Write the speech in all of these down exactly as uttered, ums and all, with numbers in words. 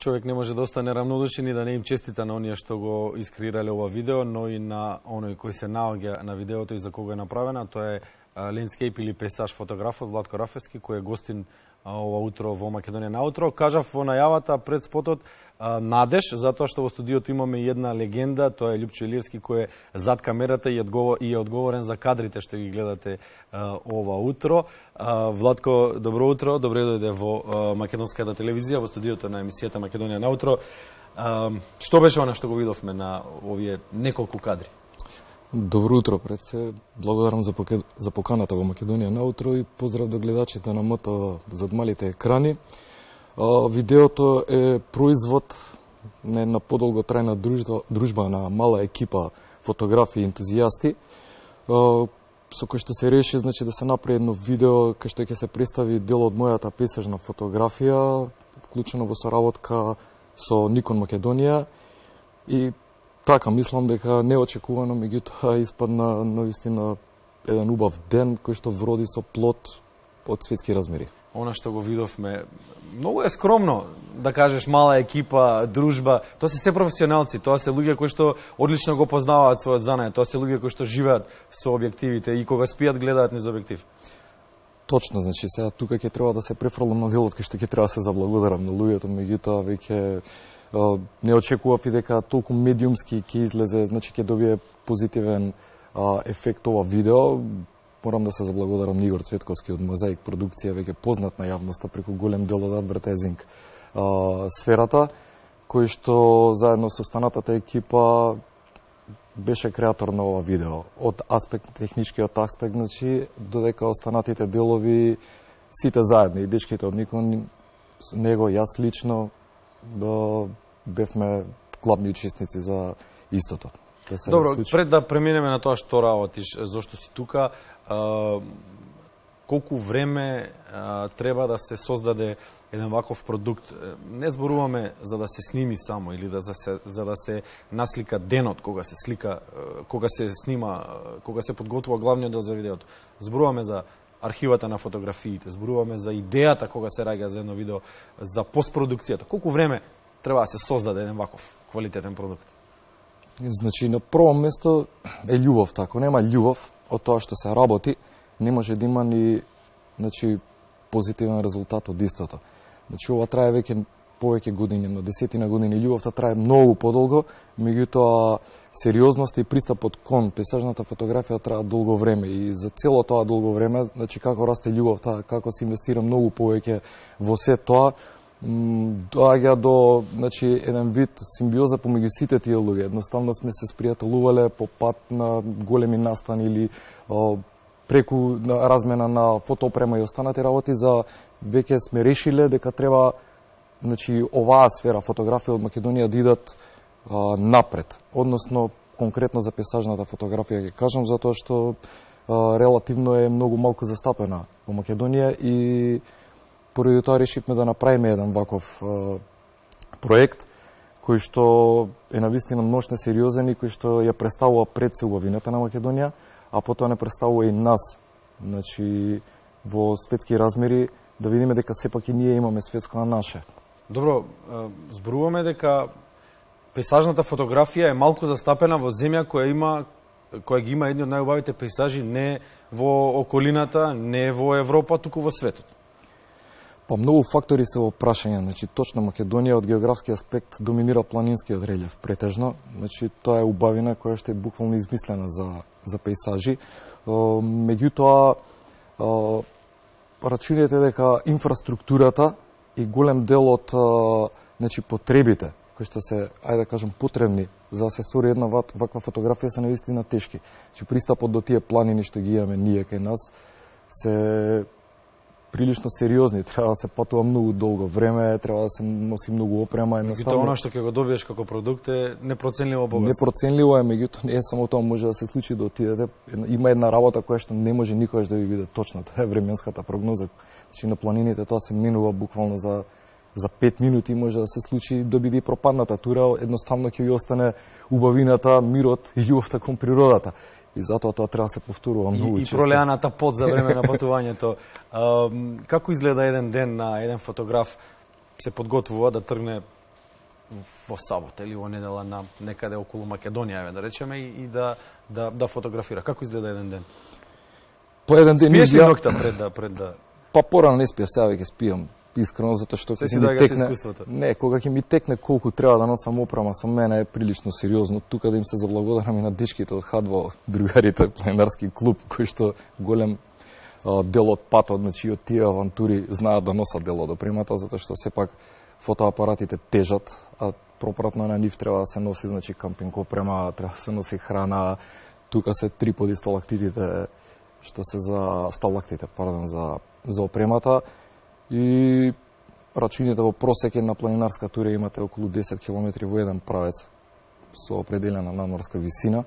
човек не може да остане равнодушен и да не им честита на оние што го искреирале ова видео, но и на оној кој се наоѓа на видеото и за кого е направена. Тоа е лендскейп или пейзаж фотографот Владко Рафевски, кој е гостин ова утро во Македонија на утро. Кажав во најавата пред спотот надеж, затоа што во студиото имаме една легенда, тоа е Љупчо Илиевски, кој е зад камерата и е одговорен за кадрите што ги гледате ова утро. Владко, добро утро, добре дојде во македонската телевизија, во студиото на емисијата Македонија на утро. Што беше она што го видовме на овие неколку кадри? Добро утро, пред се. Благодарам за, поке... за поканата во Македонија на утро и поздрав до гледачите на МТ зад малите екрани. А, видеото е производ на една подолго трајна дружба, дружба на мала екипа фотографи и ентузијасти, а, со кој што се реши, значи, да се направи едно видео кај што ќе се представи дел од мојата пейзажна фотографија, вклучено во соработка со Никон Македонија. И така, мислам дека неочекувано, меѓутоа испадна навистина еден убав ден кој што вроди со плод од светски размери. Она што го видовме, многу е скромно, да кажеш, мала екипа, дружба. Тоа се се професионалци, тоа се луѓе кои што одлично го познаваат својот занај, тоа се луѓе кои што живеат со објективите и кога спијат гледаат низ објектив. Точно, значи сега тука ќе треба да се префрлам на делот кај што ќе треба да се заблагодарам на луѓето, меѓутоа веќе не очекував и дека толку медиумски ќе излезе, значи ќе добие позитивен а, ефект ова видео. Морам да се заблагодарам Игор Цветковски од Мозаик продукција, веќе познат на јавноста преку голем дел од адвертайзинг а, сферата, кој што заедно со останатата екипа беше креатор на ова видео. Од аспект, техничкиот аспект, значи, додека останатите делови сите заедно, и дечките од Никон, него, јас лично, да бевме главни учесници за истото. Да се Добро, случи. Пред да преминеме на тоа што работиш, зошто си тука, а, колку време а, треба да се создаде еден ваков продукт? Не зборуваме за да се сними само или да се, за да се наслика денот кога се слика, кога се снима, кога се подготвува главниот дел за видеото. Зборуваме за архивата на фотографиите, зборуваме за идејата кога се раѓа за едно видео, за постпродукцијата. Колку време треба да се создаде еден ваков квалитетен продукт? Значи, на прво место е љубов, тако. Нема љубов од тоа што се работи, не може да има ни, значи, позитивен резултат од истото. Значи, ова трае веќе повеќе години, но десетина години. Љубовта трае многу подолго, меѓутоа сериозност и пристапот кон пейзажната фотографија трае долго време и за цело тоа долго време, значи како расте љубовта, како се инвестира многу повеќе во се тоа, доаѓа до, значи, еден вид симбиоза помеѓу сите тие луѓе. Едноставно сме се спријателувале по пат на големи настани или о, преку на размена на фотоопрема и останати работи, за веќе сме решиле дека треба, значи, оваа сфера фотографија од Македонија да идат а, напред. Односно, конкретно за пейзажната фотографија ќе кажам, затоа што а, релативно е многу малку застапена во Македонија и поради тоа решивме да направиме еден ваков а, проект кој што е навистина множно сериозен и кој што ја представува пред се убавината на Македонија, а потоа не представува и нас, значи, во светски размери, да видиме дека сепак и ние имаме светско на наше. Добро, зборуваме дека пейзажната фотографија е малку застапена во земја која има која ги има едни од најубавите пейзажи не во околината, не во Европа, туку во светот. Па многу фактори се во прашање, значи точно Македонија од географски аспект доминира планинскиот релјеф претежно, значи тоа е убавина која што е буквално измислена за за пейзажи. Меѓутоа рачуните дека инфраструктурата и голем дел од значи потребите кои што се, ајде да кажам, потребни за да се створи една ваква фотографија се навистина тешки. Значи пристапот до тие планини што ги имаме ние кај нас се прилично сериозни, треба да се патува многу долго време, треба да се носи многу опрема, едноставно. Меѓутоа она што ќе го добиеш како продукт е непроценливо богатство. Непроценливо е, меѓутоа не е само тоа, може да се случи да отидете. Има една работа која што не може никогаш да ви биде точна, тоа е временската прогноза. Значи на планините тоа се минува буквално за за пет минути, може да се случи да биде пропадната тура, едноставно ќе ви остане убавината, мирот и љубовта кон природата. И затоа тоа треба да се повторува многу и, често. И пролеаната пот за време на патувањето. А, како изгледа еден ден на еден фотограф се подготвува да тргне во сабота или во недела на некаде околу Македонија, да речеме, и, и да, да, да фотографира. Како изгледа еден ден? По еден ден Спиеш ли изгледа... ноќта пред да... Пред да... Па порано не спиев, сега веќе спијам. Искрено, затоа што се си ми доаѓа со текне... искуството. Не, кога ќе ми текне колку треба да носам опрема со мене е прилично сериозно. Тука да им се заблагодарам и на дечките од Хадво, другарите, планинарски клуб, кои што голем а, дел од патот, значи од тие авантури знаат да носат дел од опремата, затоа што сепак фотоапаратите тежат, а пропратно на нив треба да се носи, значи, кампинг опрема, треба да се носи храна. Тука се триподи сталактитите, што се за сталактите, пардон, за за опремата, и рачуните во просек една планинарска тура имате околу десет километри во еден правец со определена надморска висина,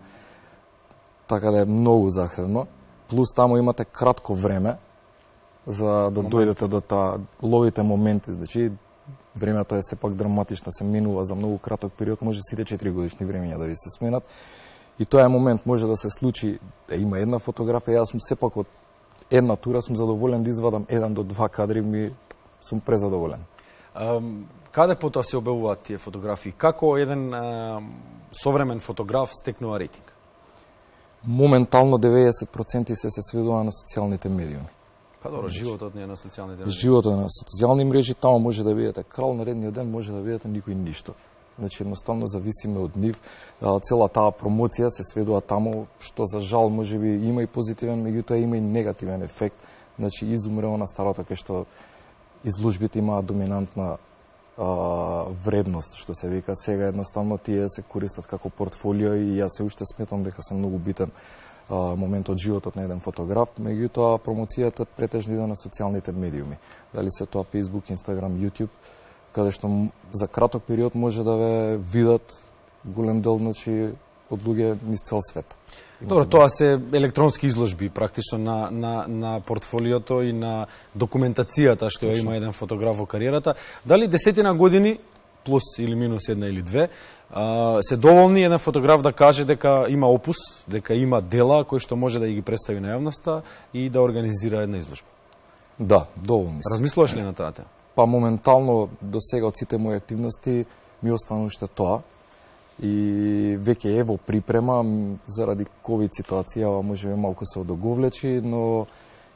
така да е многу захтевно. Плюс таму имате кратко време за да дојдете до таа, ловите моменти, значи времето е сепак драматично, се минува за многу краток период, може сите четири годишни времења да ви се сменат. И тоа е момент, може да се случи, да има една фотографија, јас сум сепак од една тура сум задоволен да извадам еден до два кадри, ми сум презадоволен. Um, каде потоа се објавуваат тие фотографии? Како еден uh, современ фотограф стекнува рейтинг? Моментално деветдесет проценти се се сведува на социјалните медиуми. Па добро, животот не е на социјалните медиуми. Животот е на социјални мрежи, таму може да бидете крал, наредниот ден може да бидете никој ништо. Значи, едноставно зависиме од нив. Цела таа промоција се сведува таму, што за жал може би има и позитивен, меѓутоа има и негативен ефект. Значи, изумрело на старото, кај што изложбите имаат доминантна а, вредност, што се вика. Сега едноставно тие се користат како портфолио и јас се уште сметам дека се многу битен а, момент од животот на еден фотограф. Меѓутоа, промоцијата претежно иде на социјалните медиуми. Дали се тоа Facebook, Instagram, YouTube, каде што за краток период може да ве видат голем дел, значи, од луѓе низ цел свет. Добро, тоа се електронски изложби практично на, на, на портфолиото и на документацијата што ја има еден фотограф во кариерата. Дали десетина години, плюс или минус една или две, а, се доволни еден фотограф да каже дека има опус, дека има дела кои што може да ги представи на јавноста и да организира една изложба? Да, доволни се. Размислуваш ли на таа тема? Па моментално до сега од сите мои активности ми остана уште тоа. И веќе е во припрема, заради ковид ситуација може би малку се одоговлечи, но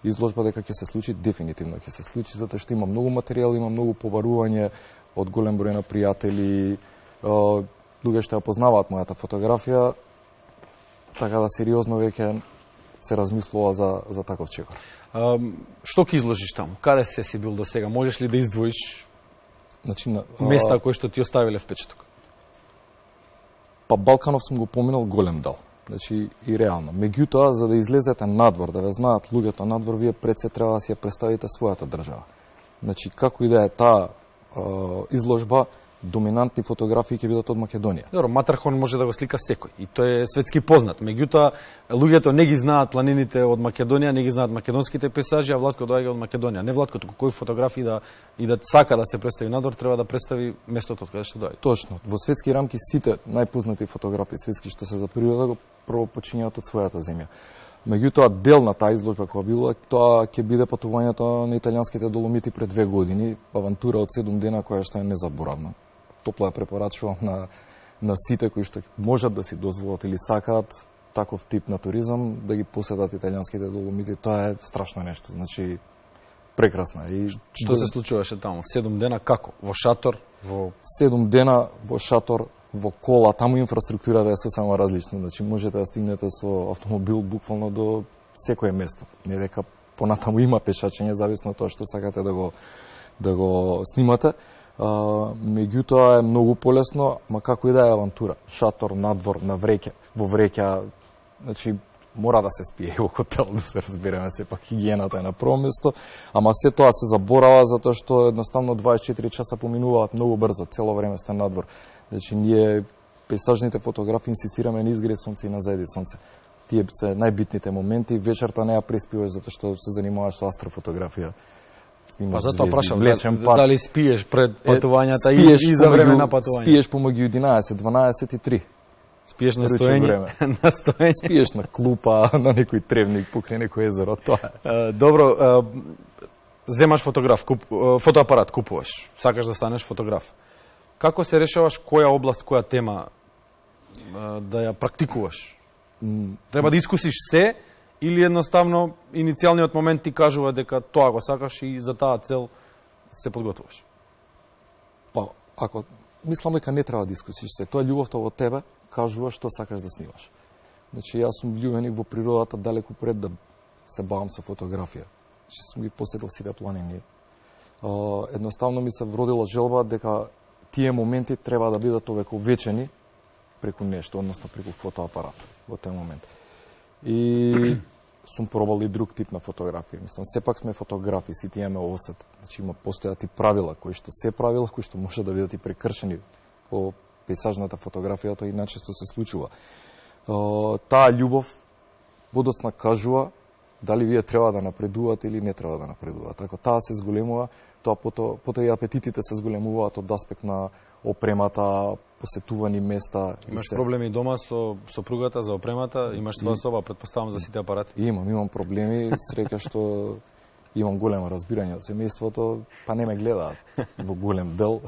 изложба дека ќе се случи, дефинитивно ќе се случи, затоа што има многу материјал, има многу побарување од голем број на пријатели, луѓе што ја познаваат мојата фотографија, така да сериозно веќе се размислува за, за таков чекор. А, што ќе изложиш таму? Каде се си бил до сега? Можеш ли да издвоиш значи, на, а... места кои што ти оставиле впечаток? Па Балканов сум го поминал голем дел. Значи и реално. Меѓутоа, за да излезете надвор, да ве знаат луѓето надвор, вие пред се треба да си ја представите својата држава. Значи, како и да е таа изложба, доминантни фотографии ќе бидат од Македонија. Добро, Матархон може да го слика секој и тој е светски познат. Меѓутоа, луѓето не ги знаат планините од Македонија, не ги знаат македонските пейзажи, а Владко доаѓа од Македонија. Не Владко, туку кој фотограф и да и да сака да се представи надвор, треба да представи местото од каде што доаѓа. Точно. Во светски рамки сите најпознати фотографи светски што се за природа го прво почињаат од својата земја. Меѓутоа, дел на таа изложба која била, тоа ќе биде патувањето на италијанските Доломити пред две години, авантура од седум дена која што е незаборавна. Топло ја препорачувам на, на сите кои што можат да си дозволат или сакаат таков тип на туризам, да ги посетат италијанските Доломити. Тоа е страшно нешто, значи прекрасно. И што се случуваше таму? Седум дена како? Во шатор? Во седум дена во шатор, во кола, таму инфраструктурата е сосема различна. Значи можете да стигнете со автомобил буквално до секое место. Не дека понатаму има пешачење, зависно од тоа што сакате да го да го снимате. Uh, меѓутоа е многу полесно, ма како и да е авантура. Шатор, надвор, на вреќе, во вреќа, значи мора да се спие во хотел, да се разбереме, сепак хигиената е на прво место, ама се тоа се заборава затоа што едноставно дваесет и четири часа поминуваат многу брзо, цело време сте надвор. Значи ние пейзажните фотографи инсистираме на изгре сонце и на зајди сонце. Тие се најбитните моменти, вечерта не ја преспиваш затоа што се занимаваш со астрофотографија. Па затоа прашам, дали спиеш пред патувањата е, и, и за време на патување? Спиеш помеѓу единаесет, дванаесет и три. Спиеш на стоење? На стоење? Спиеш на клупа, на некој тревник, покрај некој езеро, тоа е. Добро, земаш фотограф, куп, фотоапарат, купуваш, сакаш да станеш фотограф. Како се решаваш која област, која тема да ја практикуваш? Треба да искусиш се или едноставно иницијалниот момент ти кажува дека тоа го сакаш и за таа цел се подготвуваш? Па, ако мислам дека не треба да искусиш се, тоа љубовта во тебе кажува што сакаш да снимаш. Значи, јас сум влюбеник во природата далеку пред да се бавам со фотографија. Значи, сум ги посетил сите планини. Едноставно ми се вродила желба дека тие моменти треба да бидат овековечени преку нешто, односно преку фотоапарат во тој момент. И сум пробал и друг тип на фотографија. Мислам, сепак сме фотографи, сите имаме осет. Значи, има постојат и правила, кои што се правила, кои што може да бидат и прекршени по пейзажната фотографија, тоа и начесто се случува. Таа љубов подоцна кажува дали вие треба да напредувате или не треба да напредувате. Ако таа се зголемува, тоа потоа потоа и апетитите се зголемуваат од аспект на опремата, посетувани места. Имаш проблеми дома со сопругата за опремата? Имаш своја соба, предпоставам, за сите апарати? Имам, имам проблеми. Среќа што имам големо разбирање од семејството, па не ме гледаат во голем дел.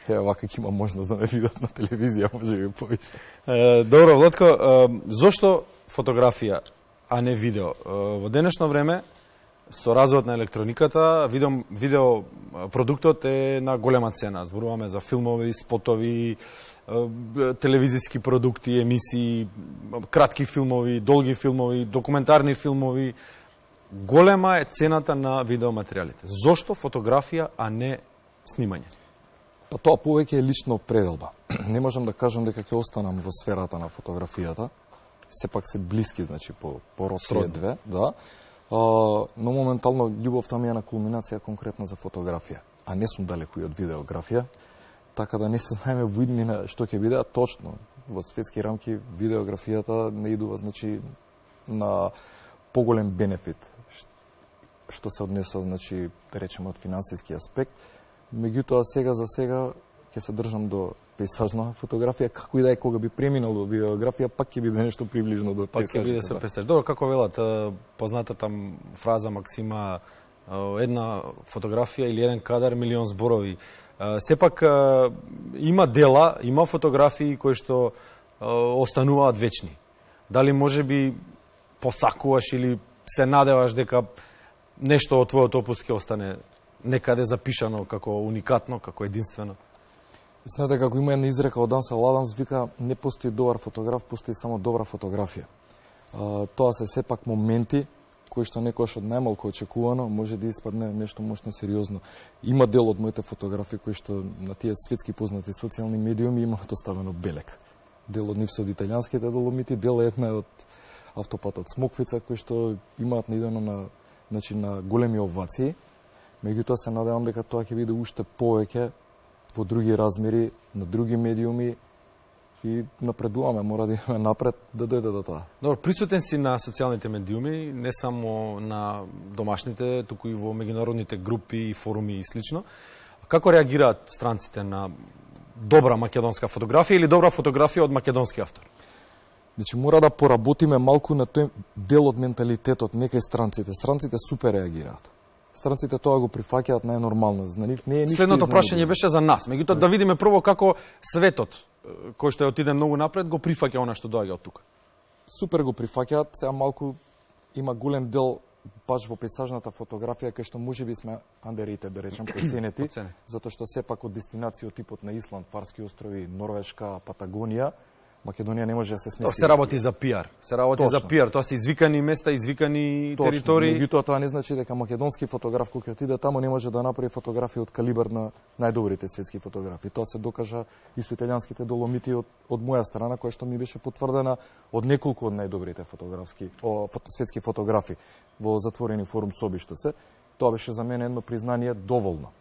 Е, вака ќе има можност да ме видат на телевизија, може би повише. Е, добро, Владко, е, зошто фотографија, а не видео? Е, во денешно време, со развојот на електрониката, видео, видео продуктот е на голема цена. Зборуваме за филмови, спотови, телевизиски продукти, емисии, кратки филмови, долги филмови, документарни филмови. Голема е цената на видеоматеријалите. Зошто фотографија, а не снимање? Па тоа повеќе е лична определба. Не можам да кажам дека ќе останам во сферата на фотографијата. Сепак се блиски, значи, по, по род тие две, да. А, но моментално љубовта ми е на кулминација конкретно за фотографија, а не сум далеку и од видеографија, така да не се знаеме во иднина што ќе биде, а точно во светски рамки видеографијата не идува, значи, на поголем бенефит што се однесува, значи, да речеме, од финансиски аспект. Меѓутоа, сега за сега ќе се држам до пейзажна фотографија, како и да е, кога би преминал до видеографија, пак ќе биде нешто приближно до пейзажната. Пак ќе биде со пейзаж. Добро, како велат познатата фраза, максима, една фотографија или еден кадар, милион зборови. Сепак има дела, има фотографии кои што остануваат вечни. Дали може би посакуваш или се надеваш дека нешто од твојот опус ќе остане некаде запишано како уникатно, како единствено? Знаете, како има една изрека од Ансел Адамс, вика, не постои добар фотограф, постои само добра фотографија. А, тоа се сепак моменти кои што некојаш од најмалку очекувано може да испадне нешто мощно сериозно. Има дел од моите фотографии кои што на тие светски познати социјални медиуми имаат оставено белек. Дел од нив се од италијанските Доломити, дел една е од автопатот Смоквица, кои што имаат наидено на, значи, на големи овации. Меѓутоа се надевам дека тоа ќе биде уште повеќе во други размери, на други медиуми и напредуваме, мора да имаме напред да дојде до тоа. Добро, присутен си на социјалните медиуми, не само на домашните, туку и во меѓународните групи, форуми и слично. Како реагираат странците на добра македонска фотографија или добра фотографија од македонски автор? Значи, мора да поработиме малку на тој дел од менталитетот, некај странците. Странците супер реагираат. Странците тоа го прифаќаат најнормално. За нив не е ништо. Следното прашање беше за нас. Меѓутоа да видиме прво како светот, кој што отиде многу напред, го прифаќа она што доаѓа од тука. Супер го прифаќаат. Сега малку има голем дел баш во пейзажната фотографија, кај што можеби сме underrated, да речем, проценети, затоа што сепак од дестинации од типот на Исланд, Фарски острови, Норвешка, Патагонија, Македонија не може да се смести. Се работи за пиар. Се работи Точно. за пиар. Тоа се извикани места, извикани Точно. територии. Меѓутоа тоа не значи дека македонски фотограф кој ќе отиде таму не може да направи фотографија од калибар на најдобрите светски фотографи. Тоа се докажа и со италијанските Доломити од, од моја страна, која што ми беше потврдена од неколку од најдобрите фотографски о, фото, светски фотографи во затворени форум собиште се. Тоа беше за мене едно признание доволно.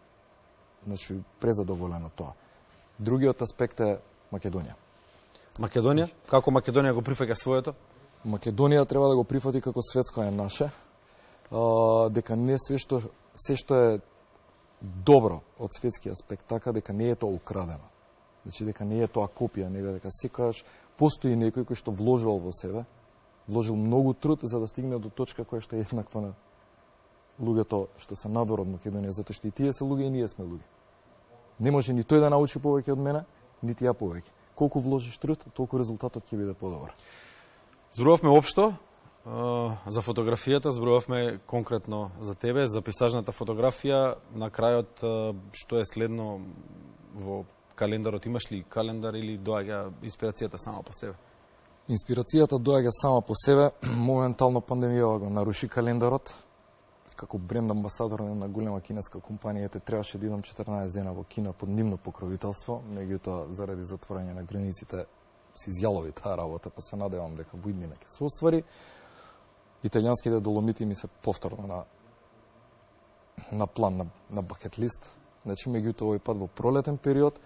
Значи презадоволено тоа. Другиот аспект е Македонија. Македонија? Како Македонија го прифаќа своето? Македонија треба да го прифати како светско е наше, а, дека не све што, се што е добро од светски аспект, така дека не е тоа украдено. Значи дека не е тоа копија, него дека секогаш постои некој кој што вложил во себе, вложил многу труд за да стигне до точка која што е еднаква на луѓето што се надвор од Македонија, затоа што и тие се луѓе и ние сме луѓе. Не може ни тој да научи повеќе од мене, нити ја повеќе. Колку вложиш труд, толку резултатот ќе биде подобар. Зборувавме општо за фотографијата, зборувавме конкретно за тебе, за пейзажната фотографија. На крајот, што е следно во календарот? Имаш ли календар или доаѓа инспирацијата сама по себе? Инспирацијата доаѓа сама по себе. Моментално пандемијава го наруши календарот. Како бренд амбасадор на голема кинеска компанија те требаше да идам четрнаесет дена во Кина под нивно покровителство, меѓутоа заради затворање на границите се изјалови таа работа, па се надевам дека во иднина ќе се оствари. Италијанските Доломити ми се повторно на на план, на, на бакет лист. Значи, меѓутоа овој пат во пролетен период,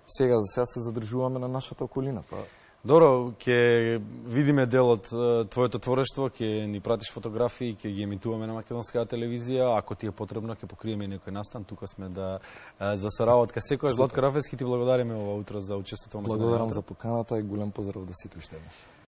сега за сега се задржуваме на нашата околина. Па... Добро, ќе видиме дел од твоето творештво, ќе ни пратиш фотографии, ќе ги емитуваме на македонската телевизија, ако ти е потребно ќе покриеме некој настан, тука сме да за соработка. Секојаш Златко Рафевски, ти благодариме ова утро за учеството во Македонија. Благодарам за поканата и голем поздрав да сите уште еднаш.